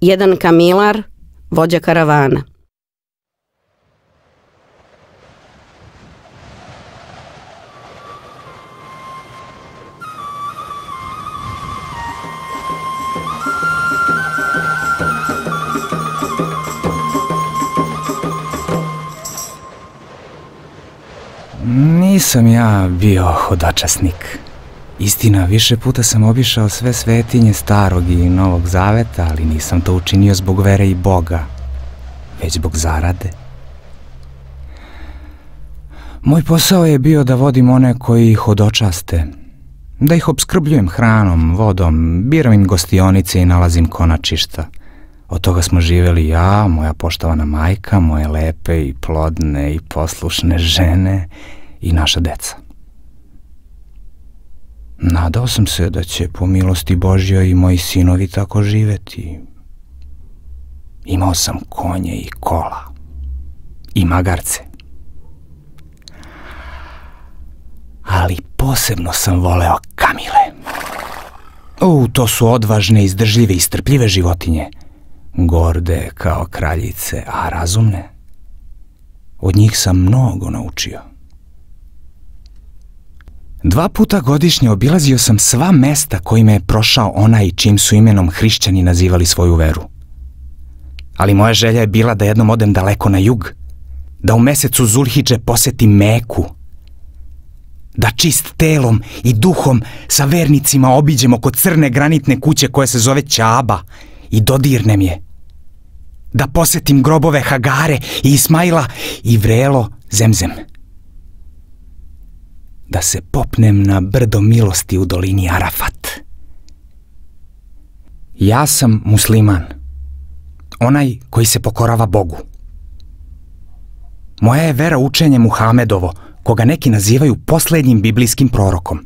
jedan kamilar, vođa karavana. Nisam ja bio hodočasnik. Istina, više puta sam obišao sve svetinje Starog i Novog Zaveta, ali nisam to učinio zbog vere i Boga, već zbog zarade. Moj posao je bio da vodim one koji hodočaste, da ih opskrbljujem hranom, vodom, biram im gostionice i nalazim konačišta. Od toga smo živjeli ja, moja poštovana majka, moje lepe i plodne i poslušne žene i naša deca. Nadao sam se da će po milosti Božjoj i moji sinovi tako živjeti. Imao sam konje i kola i magarce. Ali posebno sam voleo kamile. To su odvažne, izdržljive i strpljive životinje. Gorde kao kraljice, a razumne. Od njih sam mnogo naučio. 2 puta godišnje obilazio sam sva mesta kojima je prošao onaj čim su imenom hrišćani nazivali svoju veru. Ali moja želja je bila da jednom odem daleko na jug, da u mesecu Zulhidže posetim Meku, da čist telom i duhom sa vernicima obiđem oko crne granitne kuće koja se zove Ćaba i dodirnem je, da posetim grobove Hagare i Ismaila i vrelo Zemzem, da se popnem na brdo milosti u dolini Arafat. Ja sam musliman, onaj koji se pokorava Bogu. Moja je vera učenje Muhamedovo, koga neki nazivaju posljednjim biblijskim prorokom.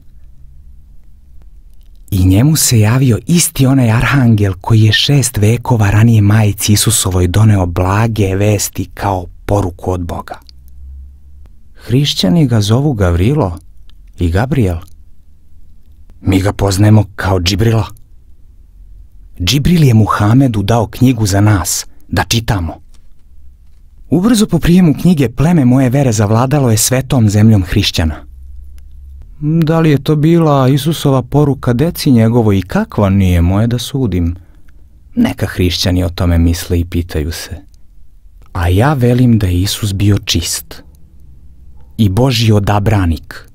I njemu se javio isti onaj arhangel koji je 6 vekova ranije majici Isusovoj doneo blage vesti kao poruku od Boga. Hrišćani ga zovu Gavrilo i Gabriel. Mi ga poznajemo kao Džibrila. Džibril je Muhamedu dao knjigu za nas, da čitamo. Ubrzo po prijemu knjige pleme moje vere zavladalo je svetom zemljom hrišćana. Da li je to bila Isusova poruka deci njegovo i kakva, nije moje da sudim. Neka hrišćani o tome misle i pitaju se. A ja velim da je Isus bio čist i Božji odabranik.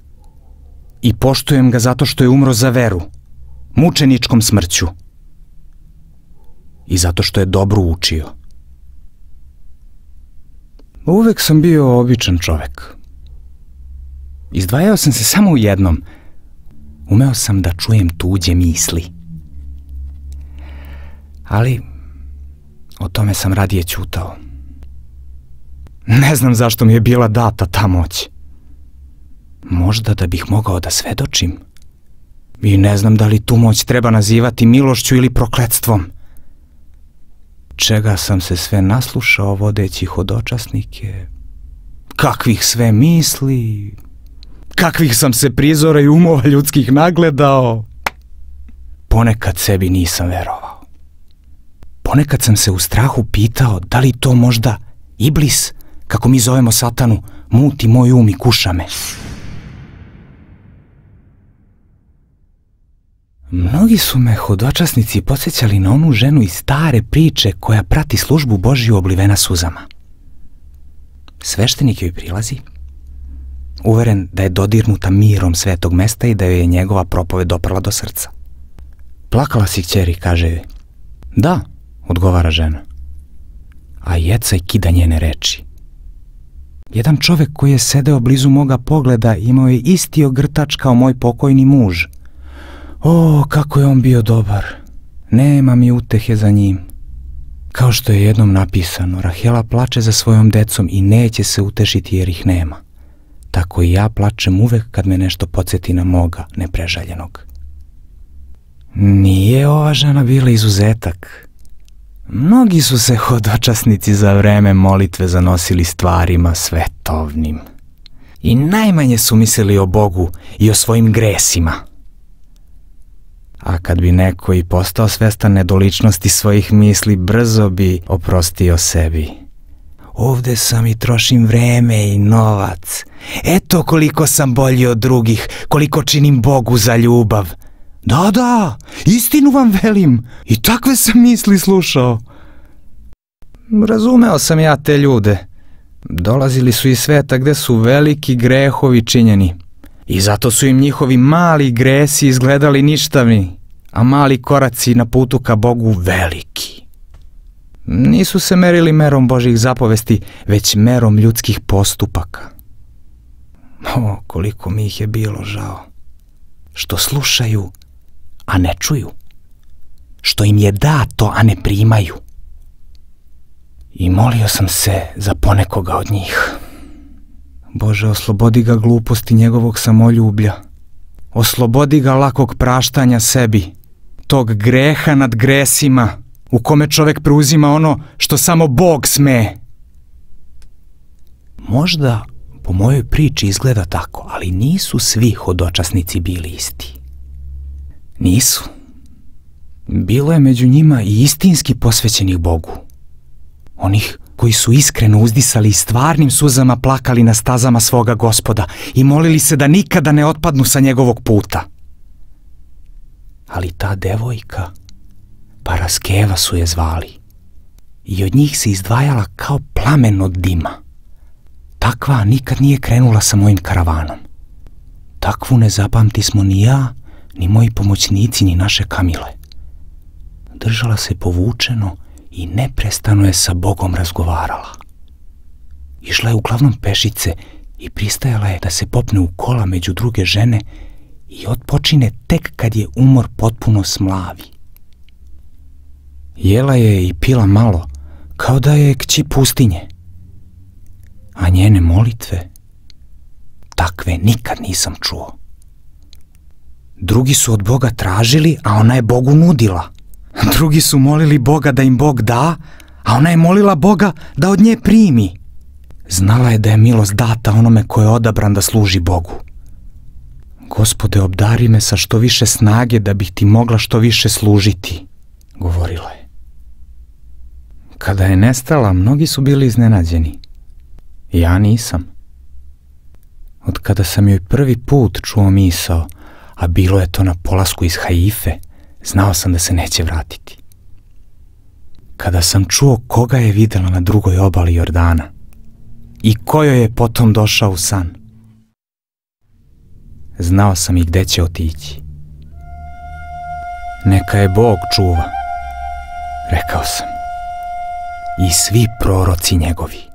I poštujem ga zato što je umro za veru, mučeničkom smrću. I zato što je dobro učio. Uvek sam bio običan čovek. Izdvajao sam se samo u jednom. Umeo sam da čujem tuđe misli. Ali o tome sam radije ćutao. Ne znam zašto mi je bila data ta moć. Možda da bih mogao da svedočim. I ne znam da li tu moć treba nazivati milošću ili prokletstvom. Čega sam se sve naslušao vodeći hodočasnike, kakvih sve misli, kakvih sam se prizora i umova ljudskih nagledao. Ponekad sebi nisam verovao. Ponekad sam se u strahu pitao da li to možda Iblis, kako mi zovemo Satanu, muti moj um i kuša me. Mnogi su me hodočasnici podsjećali na onu ženu iz stare priče koja prati službu Božju oblivena suzama. Sveštenik joj prilazi, uveren da je dodirnuta mirom svetog mesta i da joj je njegova propoved doprla do srca. Plakala si, kćeri, kaže joj. Da, odgovara žena. A jecaj kida njene reči. Jedan čovek koji je sedeo blizu moga pogleda imao je isti ogrtač kao moj pokojni muž. O, kako je on bio dobar. Nema mi utehe za njim. Kao što je jednom napisano, Rahela plače za svojom decom i neće se utešiti jer ih nema. Tako i ja plačem uvek kad me nešto podsjeti na moga neprežaljenog. Nije ova žena bila izuzetak. Mnogi su se hodočasnici za vreme molitve zanosili stvarima svetovnim. I najmanje su mislili o Bogu i o svojim gresima. A kad bi neko i postao svestan nedoličnosti svojih misli, brzo bi oprostio sebi. Ovde sam i trošim vreme i novac. Eto koliko sam bolji od drugih, koliko činim Bogu za ljubav. Da, istinu vam velim, i takve sam misli slušao. Razumeo sam ja te ljude. Dolazili su iz sveta gde su veliki grehovi činjeni. I zato su im njihovi mali gresi izgledali ništavni, a mali koraci na putu ka Bogu veliki. Nisu se merili merom Božjih zapovesti, već merom ljudskih postupaka. O, koliko mi ih je bilo žao. Što slušaju, a ne čuju. Što im je dato, a ne primaju. I molio sam se za ponekoga od njih. Bože, oslobodi ga gluposti njegovog samoljublja. Oslobodi ga lakog praštanja sebi, tog greha nad gresima, u kome čovek preuzima ono što samo Bog sme. Možda po mojoj priči izgleda tako, ali nisu svi hodočasnici bili isti. Nisu. Bilo je među njima i istinski posvećenih Bogu. Onih koji su iskreno uzdisali i stvarnim suzama plakali na stazama svoga Gospoda i molili se da nikada ne otpadnu sa njegovog puta. Ali ta devojka, Paraskeva su je zvali, i od njih se izdvajala kao plamen od dima. Takva nikad nije krenula sa mojim karavanom. Takvu ne zapamtismo ni ja, ni moji pomoćnici, ni naše Kamile. Držala se povučeno i neprestano je sa Bogom razgovarala. Išla je uglavnom pešice i pristajala je da se popne u kola među druge žene i otpočine tek kad je umor potpuno smlavi. Jela je i pila malo, kao da je kći pustinje. A njene molitve, takve nikad nisam čuo. Drugi su od Boga tražili, a ona je Bogu nudila. Drugi su molili Boga da im Bog da, a ona je molila Boga da od nje primi. Znala je da je milost data onome ko je odabran da služi Bogu. Gospode, obdari me sa što više snage da bih ti mogla što više služiti, govorila je. Kada je nestala, mnogi su bili iznenađeni. Ja nisam. Od kada sam joj prvi put čuo misao, a bilo je to na polasku iz Haife, znao sam da se neće vratiti. Kada sam čuo koga je videla na drugoj obali Jordana i ko joj je potom došao u san, znao sam i gde će otići. Neka je Bog čuva, rekao sam, i svi proroci njegovi.